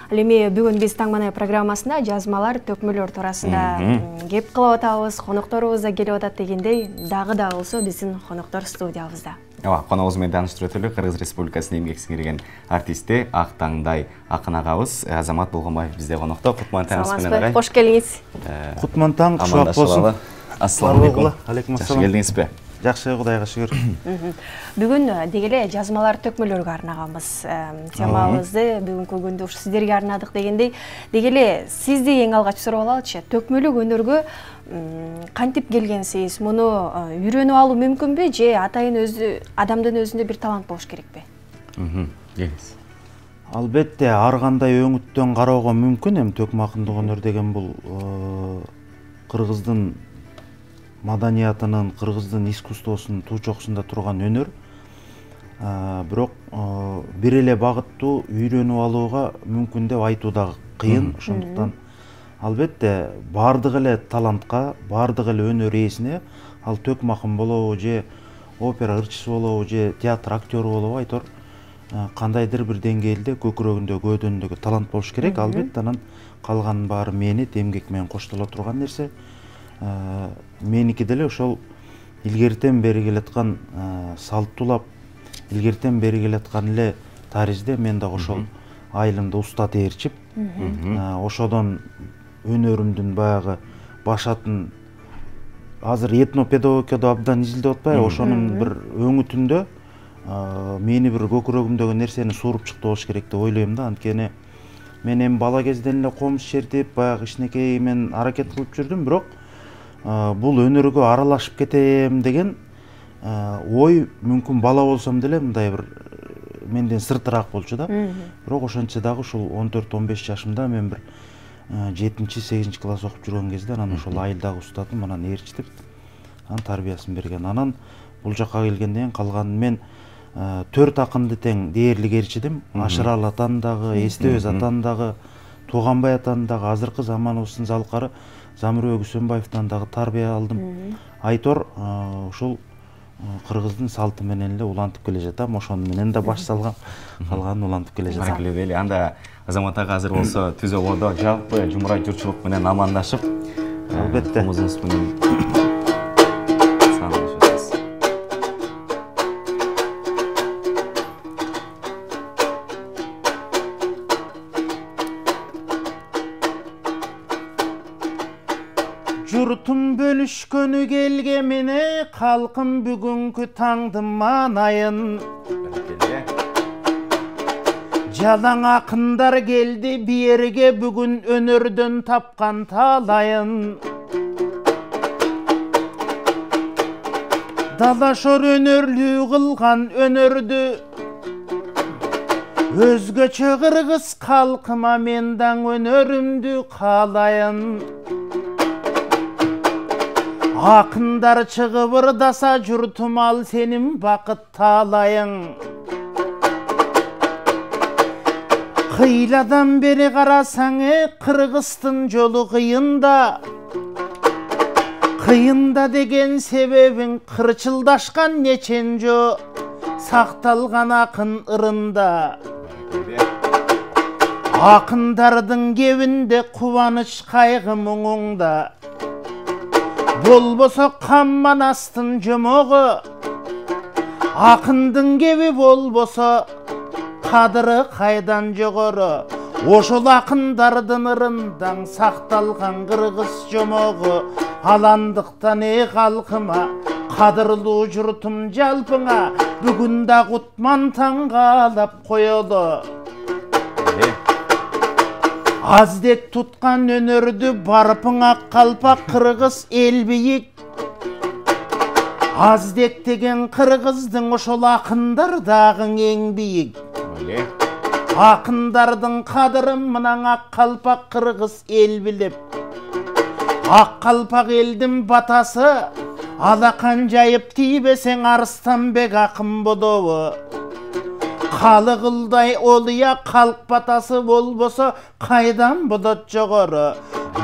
Ал эми бүгүн биз Таң Манай программасында жазмалар, төкмөлөр туурасында кеп кылып атабыз, конокторубуз да келип атат дегендей, дагы да болсо биздин коноктор студиябызда. Ооба, коногубуз менен тааныштырып өтөлү. Кыргыз Республикасынын эмгек сиңирген артисти Ак Таңдай акын агабыз Азамат Болгонбаев бизде конокто. Кутман таңыңыз менен агай. Кош келиңиз. Кутман таң, кушак болсун. Ассаламу алейкум. Алейкум Жакшы ассалам. келдиңизби? Жакшы, Кудайга шүгүр. Бүгүн деги эле жазмалар, төкмөлөргө арнаганбыз. Темабызды бүгүнкү күндө ушу сиздерге арнадык дегендей, деги эле сизди эң алгач сурап алалычы. Төкмөлүк өнөргө кантип келгенсиз? Муну үйрөнүп алуу мүмкүнбү же атайын адамдын өзүндө бир талант болуш керекпи? Келиңиз. Албетте, ар кандай өңүттөн кароого мүмкүн. Эми төкмакындык өнөр деген бул кыргыздын маданиятынын, кыргыздын искусствосунун туучоксунда турган өнөр. Бирок бир эле багыттуу үйрөнүп алууга мүмкүн деп айтуу да кыйын. Ошондуктан албетте бардык эле талантка, бардык эле өнөр ээсине, ал төкмакын болобу же опера ырчысы болобу же театр актёру болобу, айтор кандайдыр бир деңгээлде көкүрөгүндө, көөдөнүндөгү талант болуш керек. Албетте анан калганын баары мээнет, эмгек менен коштоло турган нерсе. Меники деле ошол илгертен бери келаткан салттуулап, илгертен бери келаткан эле таризде мен дагы ошол айылымда уста тээрчип, ошодон өнөрүмдүн баягы башатын азыр этнопедагогикада абдан изилдеп атпайбы, ошонун бир өңүтүндө мени бир көкүрөгүмдөгү нерсени сууруп чыкты болуш керек деп ойлойм да. Анткени мен эми бала кезден эле комуз чертип, баягы кичинекей мен аракет кылып жүрдүм, бирок бул өнөргө аралашып кетем деген ой мүмкүн бала болсом деле мындай бир менден сыртыраак болчу да. Бирок ошончо дагы ушул 14-15 жашымда мен бир 7-8 класс окуп жүргөн кезде анан ошол айылдагы устатым анан ээрчитип, анан тарбиясын берген. Анан бул жакка келгенден кийин калганын мен 4 акынды тең дээрлик ээрчидим. Ашырал атаны дагы, Эстебез атаны дагы, Тууганбай атаны дагы, азыркы заманыбыздын залкары Замирбек Үсөнбаевден дагы тарбия алдым. Айтор ушул кыргыздын салты менен эле улантып келе жатам. Ошону менен да баш салгам, калганын улантып келе жатам. Баракелде дейли. Анда Азамат ага азыр болсо түзө бордо жалпы жумурай журтчулук менен амандашып, албетте музыңыз менен журтум бөлүшкөнү келгемине, калкым бүгүнкү таңдын маанайын. Жалаң акындар келди биерге, бүгүн өнөрдөн тапкан таалайын. Далашор өнөрлүү кылган өнөрдү, өзгөчө кыргыз калкыма мен даң өнөрүмдү каалайын. Акындар чыгып ырдаса журтум, ал сенин бакыт таалайың. Кыйладан бери карасаң, кыргыздын жолу кыйында. Кыйында деген себебиң кырчылдашкан неченжо сакталган акын ырында. Акындардын кебинде кубаныч кайгы муңуңда. Болбосо Камманастын жомогу, акындын кеби болбосо кадыры кайдан жогору. Ошол акындардын ырындан сакталган кыргыз жомогу. Аландыктан калкыма, кадырлуу журтум жалпыңа, бүгүн да Кутман таң каалап коелу. Аздек туткан өнөрдү барпың ак калпак кыргыз эл бийик. Аздек деген кыргыздың ошол акындар дагы эң бийик. Акындардын кадырын мынан ак калпак кыргыз эл билип. Ак калпак элдин батасы, алакан жайып тийбесең Арыстанбек акын болобу. Калы кылдай олуя калк батасы болбосо кайдан болот жогору.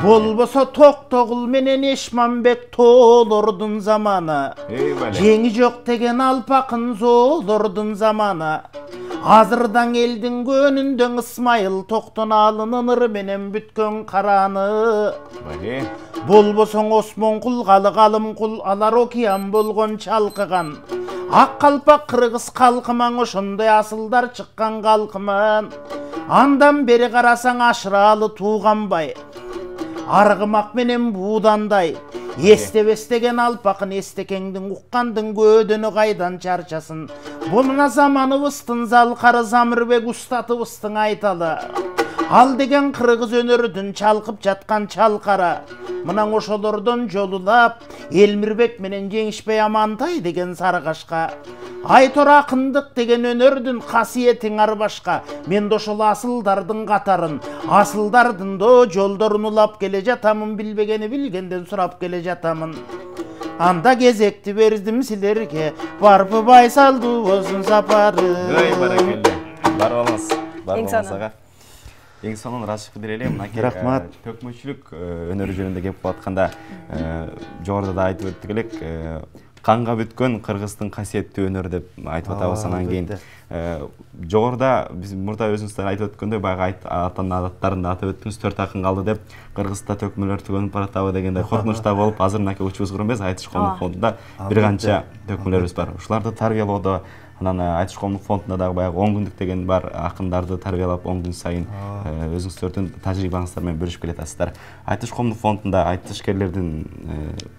Болбосо Токтогул менен Эшманбек тоолордун заманы. Жеңи жок деген алпакын зоолордун заманы. азырдан элдин көнүндөн Ысмайыл Токтоналынын ыр менен бүткөн караны. Болбосоң Осмон кул, калым кул, алар океан болгон чалкыган. Ак калпак кыргыз калкыман, ошондой асылдар чыккан калкыман. Андан бери карасаң Ашыралы тууганбай, аргымак менен буудандай. Эстебестеген алпакын эстекеңдин уккандын көөдөнү кайдан чарчасын. Бунуна заманыбыздын залкары Замирбек устатыбыздын айталы. Ал деген кыргыз өнөрүдүн чалкып жаткан чалкара. Мынан ошолордон жолулап Элмирбек менен Жеңишбей Амантай деген саргашка. Айтор акындык деген өнөрдүн касиетиң арбашка. Мен да ошол асылдардын катарын, асылдардын до жолдорун улап келе жатамын, билбегени билгенден сурап келе жатамын. Анда кезекти бердим силерге, барпы байсалдуубуздун сапары. Баракелде. Бар болуңуз. Бар болуңуз ага. Эң сонун ырашып деле мынакей төкмөчүлүк өнөрү жөнүндө кеп атканда жогоруда да айтып өттүк элек, канга бүткөн кыргыздын касиеттүү өнөрү деп айтып атабыз. Анан кийин жогоруда биз мурда өзүңүздөр айтып өткөндөй баягы атанын адаттарын да атап өттүңүз, 4 акын калды деп, кыргызда төкмөлөр түгөнүп баратабы дегендей коркунучта болуп, азыр мынакей учубуз куру эмес, Айтыш коомдук фондунда бир канча төкмөлөрүбүз бар. Ушуларды тарбиялоодо, анан Айтыш коомдук фондунда дагы баягы 10 күндүк деген бар, акындарды тарбиялап 10 күн сайын өзүңүздөрдүн тажрыйбаңыздар менен бөлүшүп келатасыздар. Айтыш коомдук фондунда айтышкерлердин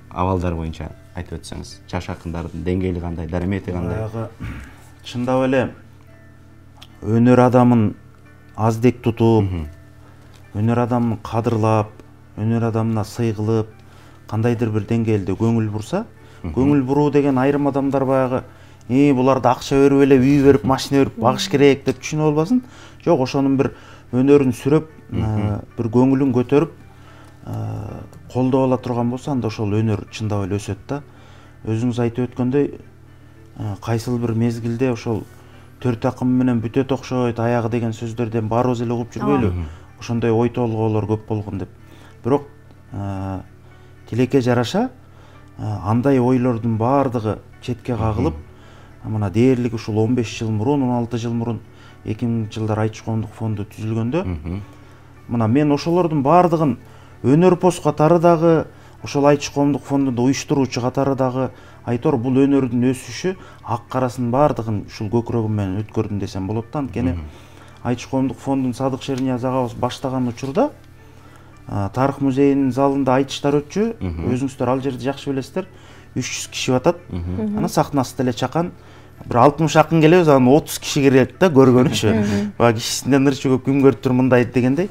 абалдары боюнча айтып өтсөңүз, жаш акындардын деңгээли кандай, дарамети кандай? Чындап эле өнөр адамын аздек тутуп, өнөр адамын кадырлап, өнөр адамына сый кылып, кандайдыр бир деңгээлде көңүл бурса, көңүл буруу деген айрым адамдар баягы буларда акча берип эле үй берип, машина берип багыш керек деп түшүнүп албасын. Жок, ошонун бир өнөрүн сүрөп, бир көңүлүн көтөрүп, колдоп ала турган болсо, анда ошол өнөр чындап эле өсөт да. Өзүңүз айтып өткөндөй, кайсыл бир мезгилде ошол 4 акым менен бүтөт окшойт аягы деген сөздөрдөн баарыбыз эле угуп жүрбөйлү? Ошондой ой толгоолор көп болгон деп. Бирок тилекке жараша андай ойлордун баардыгы четке кагылып, мына дээрлик ушул 15 жыл мурун, 16 жыл мурун 2000-жылдар Айтыш коомдук фонду түзүлгөндө, мына мен ошолордун баардыгын өнөр пост катары дагы, ошол Айтыш коомдук фондунда уюштуруучу катары дагы Айтор бул өнөрдүн өсүшү ак карасын баардыгын ушул көкүрөгүм менен өткөрдүм десем болот да. Анткени Айтыш коомдук фондун Садык Шернияз агабыз баштаган учурда тарых музейинин залында айтыштар өтчү. Өзүңүздөр ал жерди жакшы билесиздер. 300 киши батат. Анан сахнасы деле чакан. Бир 60 акын келебиз, анан 30 киши кирет да, көргөнүчү. Баягы кишисинден ырчы көп күн көрүп тур мындай дегендей.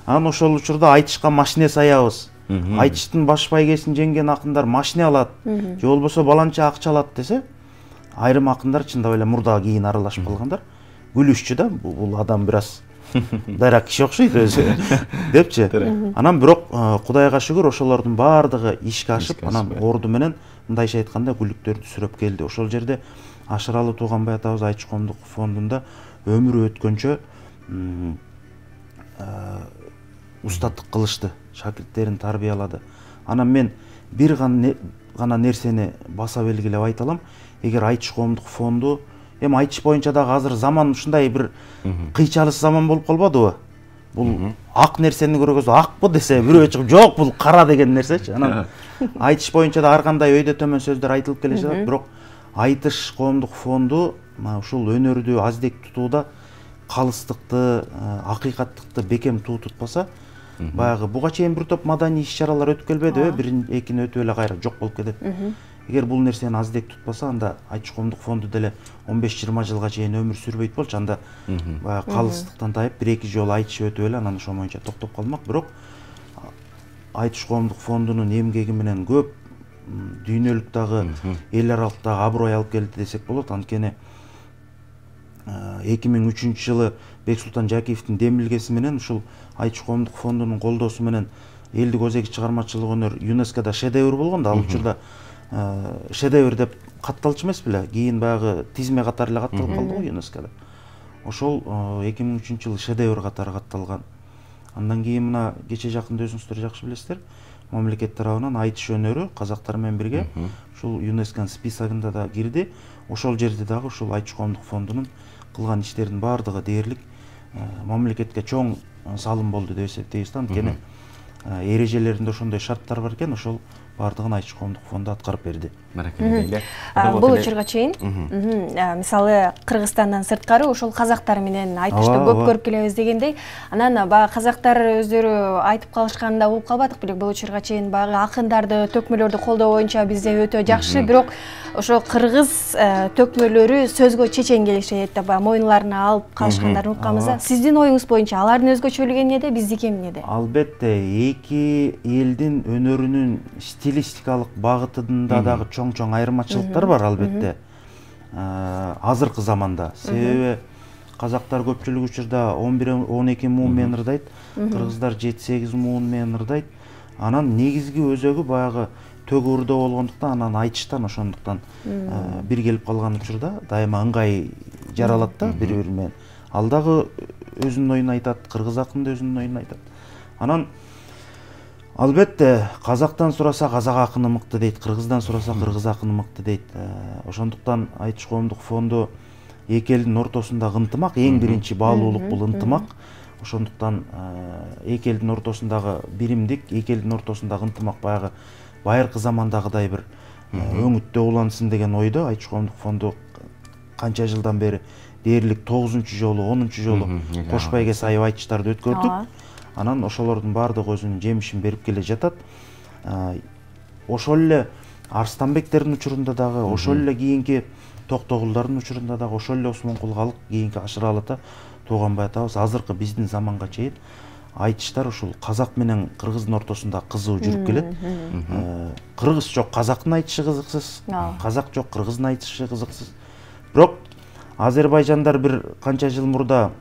Анан ошол учурда айтышка машина саябыз. Айтыштын баш байгесин жеңген акындар машина алат, же болбосо баланча акча алат десе, айрым акындар чындап эле мурда кийин аралашып калгандар. Күлүшчү да, бул адам бир аз дайрак киши окшойт өзү депчи. Анан бирок Кудайга шүгүр ошолордун баардыгы ишке ашып, анан орду менен мындайча айтканда күлүктөрдү сүрөп келди. Ошол жерде Ашыралы Тууганбай атабыз Айтыш коомдук фондунда өмүрү өткөнчө устаттык кылышты, шакирттерин тарбиялады. Анан мен бир гана нерсени баса белгилеп айта алам. Эгер Айтыш коомдук фонду, эми айтыш боюнча дагы азыр заман ушундай бир кыйчалыс заман болуп калбадыбы? Бул ак нерсени көргөзүп акпы десе, бирөө чыгып жок бул кара деген нерсечи. Анан айтыш боюнча да ар кандай өйдө төмөн сөздөр айтылып келе жатат, бирок Айтыш коомдук фонду ушул өнөрдү аздек тутууда калыстыкты, акыйкаттыкты бекем туу тутпаса, баягы буга чейин бир топ маданий иш-чаралар өтүп келбедиби? Бирин экини өтүп эле кайра жок болуп кетет. Эгер бул нерсени аздек тутпаса, анда Айтыш коомдук фонду деле 15-20 жылга чейин өмүр сүрбөйт болчу. Анда баягы калыстыктан тайып, 1-2 жолу айтыш өтүп эле анан ошол боюнча токтоп калмак. Бирок Айтыш коомдук фондунун эмгеги менен көп дүйнөлүк дагы, эл аралык дагы аброй алып келди десек болот. Анткени 2003-жылы Бексултан Жакиевдин демилгеси менен ушул Айтыш коомдук фондунун колдоосу менен элдик өзеги чыгармачылык өнөр ЮНЕСКОда шедевр болгон да. Ал учурда шедевр деп катталчу эмес беле? Кийин баягы тизме катары эле катталып калды го ЮНЕСКОда. Ошол 2003-жылы шедевр катары катталган. Андан кийин мына кече жакында өзүңүздөр жакшы билесиздер, мамлекет тарабынан айтыш өнөрү казактар менен бирге ушул ЮНЕСКОнун списогунда да кирди. Ошол жерде дагы ушул Айтыш коомдук фондунун кылган иштердин баардыгы дээрлик мамлекетке чоң салым болду деп эсептейбиз да. Анткени эрежелеринде ошондой шарттар бар экен, ошол баардыгын Айтыш коомдук фонду аткарып берди. Баракелде. Бул учурга чейин мисалы Кыргызстандан сырткары ошол казактар менен айтышты көп көрүп келебиз дегендей, анан баягы казактар өздөрү айтып калышканда болуп калбадык белек. Бул учурга чейин баягы акындарды, төкмөлөрдү колдоо боюнча бизде өтө жакшы, бирок ошо кыргыз төкмөлөрү сөзгө чечен келишет да, баягы мойнуна алып калышкандарын укканбыз да. Сиздин оюңуз боюнча алардын өзгөчөлүгү эмнеде, биздики эмнеде? Албетте, эки элдин өнөрүнүн стилистикалык багытында дагы чоң айырмачылыктар бар албетте. Азыркы заманда. Себеби казактар көпчүлүк учурда 11-12 муун менен ырдайт, кыргыздар 7-8 муун менен ырдайт. Анан негизги өзөгү баягы төк уурдоо болгондуктан, анан айтыштан ошондуктан бир келип калган учурда дайыма ыңгай жаралат да бири-бири менен. Ал дагы өзүнүн оюн айтат, кыргыз акын да өзүнүн оюн айтат. Анан албетте казактан сураса казак акыны мыкты дейт, кыргыздан сураса кыргыз акыны мыкты дейт. Ошондуктан Айтыш коомдук фонду эки элдин ортосундагы ынтымак, эң биринчи баалуулук бул ынтымак. Ошондуктан эки элдин ортосундагы биримдик, эки элдин ортосундагы ынтымак баягы байыркы замандагыдай бир өңүттө улансын деген ойдо Айтыш коомдук фонду канча жылдан бери дээрлик 9-жолу, 10-жолу кош байге сайып айтыштарды өткөрдүк. Анан ошолордун баардыгы өзүнүн жемишин берип келе жатат. Ошол эле Арстанбектердин учурунда дагы, ошол эле кийинки Токтогулдардын учурунда дагы, ошол эле Осмонкулгалык, кийинки Ашыралы ата, Тууганбай атабыз азыркы биздин заманга чейин айтыштар ушул казак менен кыргыздын ортосунда кызуу жүрүп келет. Кыргыз жок, казактын айтышы кызыксыз, казак жок, кыргыздын айтышы кызыксыз. Бирок Азербайжандар бир канча жыл мурда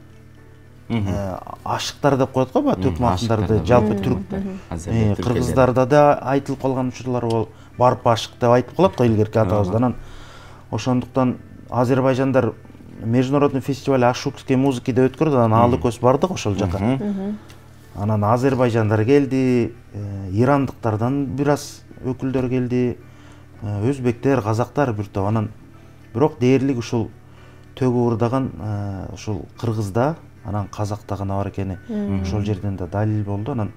ашыктар деп коет го, төкмө акындарды жалпы түрк кыргыздарда да айтылып калган учурлар болуп, барып ашык деп айтып калат го илгерки атабыз. Анан ошондуктан Азербайжандар международный фестиваль ашукской музыки деп өткөрдү, анан алы көз бардык ошол жака. Анан Азербайжандар келди, ирандыктардан бир аз өкүлдөр келди, өзбектер, казактар бир топ. Анан бирок дээрлик ушул төк уурдаган ушул кыргызда, анан казакта гана бар экени ошол жерден да далил болду. Анан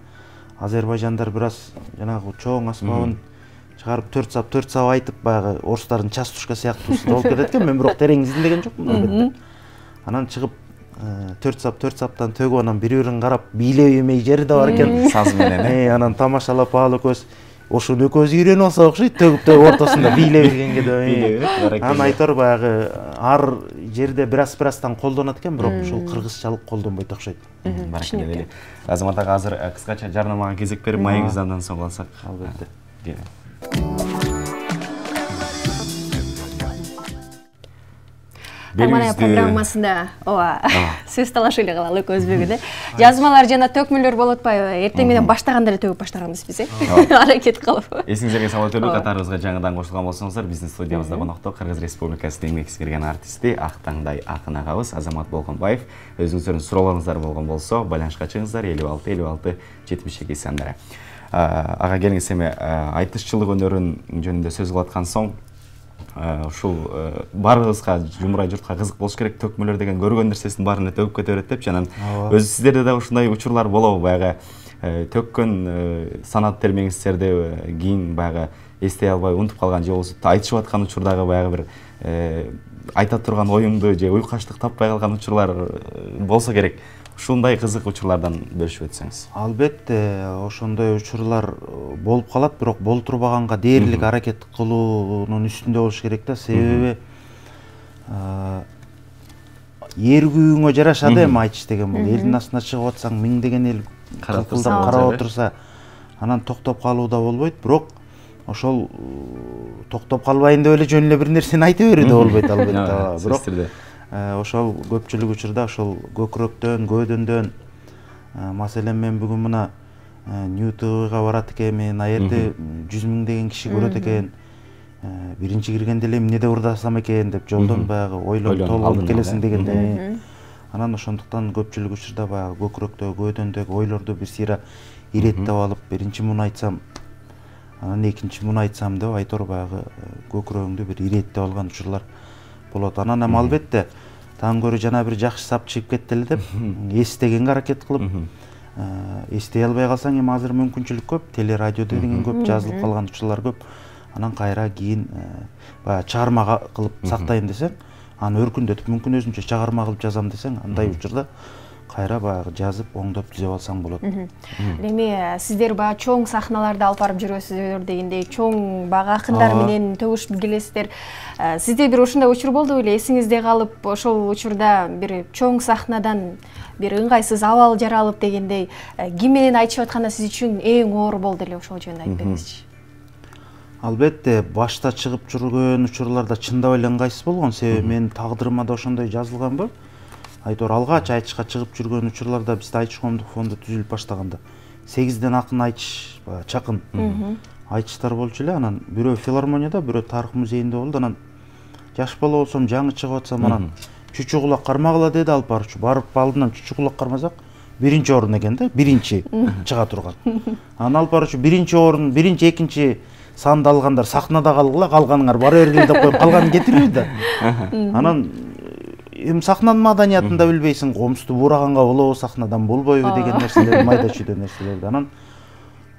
Азербайжандар бир аз жанагы чоң аспабын чыгарып 4 сап айтып, баягы орустардын частушка сыяктуусу болуп кетет экен. Мен бирок терең изилдеген жокмун албетте. Анан чыгып 4 саптан төгүп, анан бири-бирин карап бийлебемей жери да бар экен. Саз менен. Анан тамашалап аалы көз ошону экөөбүз үйрөнүп алсак окшойт, төгүп ортосунда бийлеп бергенге деп. Анан айтор баягы ар жерде бир аздан колдонот экен, бирок ушул кыргызчалык колдонбойт окшойт. Баракелде. Азамат ага азыр кыскача жарнамага кезек берип, маегибизди андан соң алсак. Албетте. Тамана программасында сөз талашы эле калалы көзбөгүдө. Жазмалар жана төкмөлөр болуп атпайбы? Эртең менен баштаганда эле төгүп баштаганбыз биз, аракет кылып. Эсиңизерге салып өтөлүк, катарыбызга жаңыдан кошулган болсоңуздар, биздин студиябызда конокто Кыргыз Республикасынын еңбек сиңирген артисти, ак таңдай акын агабыз Азамат Болгонбаев. Өзүңүздөрдүн суроолоруңуздар болгон болсо, байланышка чыгыңыздар 56 72 сандары. Ага келиңиз, эми айтышчылык өнөрүн жөнүндө сөз кылып аткан соң, ушул баарыбызга, жумурай журтка кызык болуш керек, төкмөлөр деген көргөн нерсесин баарына төгүп кете берет депчи. Анан өзү сиздерде да ушундай учурлар болобу? Баягы төккөн санат термеңиздерди кийин баягы эстей албай унутуп калган же болбосо айтышып аткан учурдагы баягы бир айта турган оюңду же уйкаштык таппай калган учурлар болсо керек. Ушундай кызык учурлардан бөлүшүп өтсөңүз. Албетте, ошондой учурлар болуп калат, бирок болтурбаганга дээрлик аракет кылуунун үстүндө болуш керек да. Себеби эр күйүүңө жарашады эми айтыш деген бул. Элдин астына чыгып атсаң, миңдеген эл карап отурса, анан токтоп калуу да болбойт. Бирок ошол токтоп калбайын деп эле жөн эле бир нерсени айта берүү да болбойт албетте. Бирок ошол көпчүлүк учурда ошол көкүрөктөн, көөдөндөн, маселен мен бүгүн мына Нью-ТВга барат экенмин, аерде 100 миңдеген киши көрөт экен. Биринчи киргенде эле эмне деп ырдасам экен деп жолдон баягы ойлонуп толгонуп келесиң дегенде. Анан ошондуктан көпчүлүк учурда баягы көкүрөктөгү, көөдөндөгү ойлорду бир сыйра иреттеп алып, биринчи муну айтсам, анан экинчи муну айтсам деп айтор баягы көкүрөгүңдү бир иреттеп алган учурлар болот. Анан эми албетте таң көрө жана бир жакшы сап чыгып кетти эле деп эстегенге аракет кылып, эстей албай калсаң эми азыр мүмкүнчүлүк көп, телерадиодо деген көп жазылып калган учурлар көп. Анан кайра кийин баягы чыгарма кылып сактайм десең, аны өркүндөтүп мүмкүн өзүнчө чыгарма кылып жазам десең, андай учурда кайра баягы жазып, оңдоп түзөп алсаң болот. Эми сиздер баягы чоң сахналарда алып барып жүрөсүздөр дегендей, чоң баягы акындар менен төгүшүп келесиздер. Сизде бир ушундай учур болду беле? Эсиңизде калып, ошол учурда бир чоң сахнадан бир ыңгайсыз абал жаралып дегендей, ким менен айтышып атканда сиз үчүн эң оор болду эле, ошол жөнүндө айтып бериңизчи. Албетте, башта чыгып жүргөн учурларда чындап эле ыңгайсыз болгон, себеби менин тагдырыма да ошондой жазылганбы? Айтор алгач айтышка чыгып жүргөн учурларда бизде айтыш коомдук фонду түзүлүп баштаганда 8ден акын айтыш, чакын айтыштар болчу эле. Анан бирөө филармонияда, бирөө тарых музейинде болду. Анан жаш бала болсом, жаңы чыгып атсам, анан чүчү кулак кармагыла деди алып барчу. Барып алдынан чүчү кулак кармасак, 1-орун экен да, 1-чи чыга турган. Анан алып барчу 1-орун, 1-2 санды алгандар сахнада калгыла, калганыңар бара бергиле деп коюп калганын кетирбиз да. Анан эми сахнанын маданиятын да билбейсиң, комузду бураганга болобу, сахнадан болбойбу деген нерселер, майда чүйдө нерселерди. Анан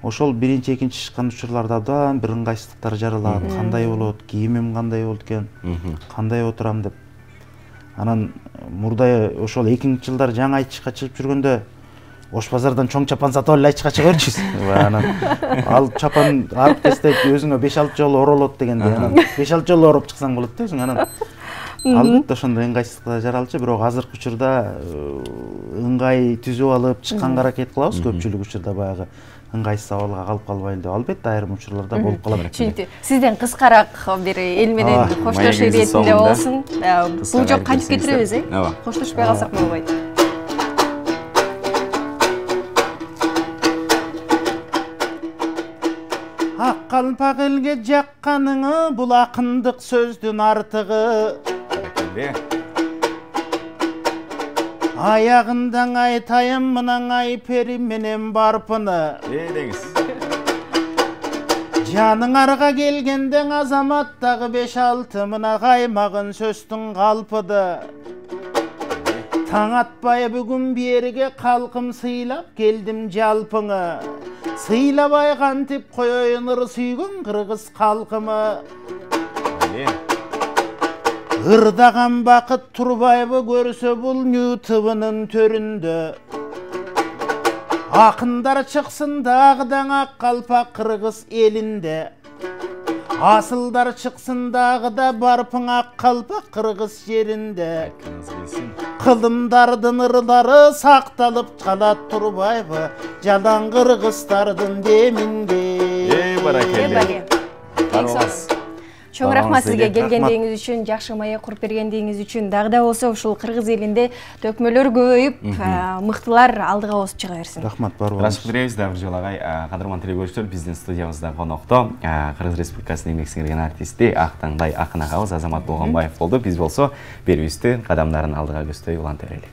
ошол 1-2 чыккан учурларда абдан бир ыңгайсыздыктар жаралат. Кандай болот, кийимим кандай болот экен, кандай отурам деп. Анан мурда ошол 2000-жылдар жаңы айтышка чыгып жүргөндө Ош базардан чоң чапан сатып алып айтышка чыга берчүбүз. Анан ал чапан арып кестеп өзүңө 5-6 жолу оролот дегенде, анан 5-6 жолу ороп чыксаң болот да өзүң. Анан албетте ошондой ыңгайсыздыктар жаралчу, бирок азыркы учурда ыңгай түзүп алып чыкканга аракет кылабыз. Көпчүлүк учурда баягы ыңгайсыз абалга калып калбайлы деп. Албетте айрым учурларда болуп калат. Түшүнүктүү. Сизден кыскараак бир эл менен коштош иретинде болсун. Бул жок кантип кетиребиз, коштошпой калсак болбойт. Ак калпак элге жакканыңы, бул акындык сөздүн артыгы. Аягындан айтайын мынан айпери менен барпыны. Деңиз. Жаныңарга келгенден азаматтагы 5-6 мына каймагын сөздүн калпыды. Таң атпай бүгүн бериге калкым сыйлап келдим жалпыңы. Сыйлабай кантип коёюн ыр сүйгөн кыргыз калкымы. Ырдаган бакыт турбайбы көрсө бул ютубунун төрүндө. Акындар чыксын дагыдан ак калпак кыргыз элинде. Асылдар чыксын дагыда барпың ак калпак кыргыз жеринде. Кылымдардын ырлары сакталып калат турбайбы жалаң кыргыздардын деминде. Баракелде. Чоң рахмат сизге келгендигиңиз үчүн, жакшы маек куруп бергендигиңиз үчүн. Дагы да болсо ушул кыргыз элинде төкмөлөр көбөйүп, мыктылар алдыга басып чыга берсин. Рахмат, бар болуңуз. Рашык беребиз да бир жолу агай. Кадырман телекөрүүчүлөр, биздин студиябызда конокто Кыргыз Республикасынын эмгек сиңирген артисти Актаңбай акын агабыз Азамат Болгонбаев болду. Биз болсо берүүбүздү кадамдарын алдыга көздөй уланта берели.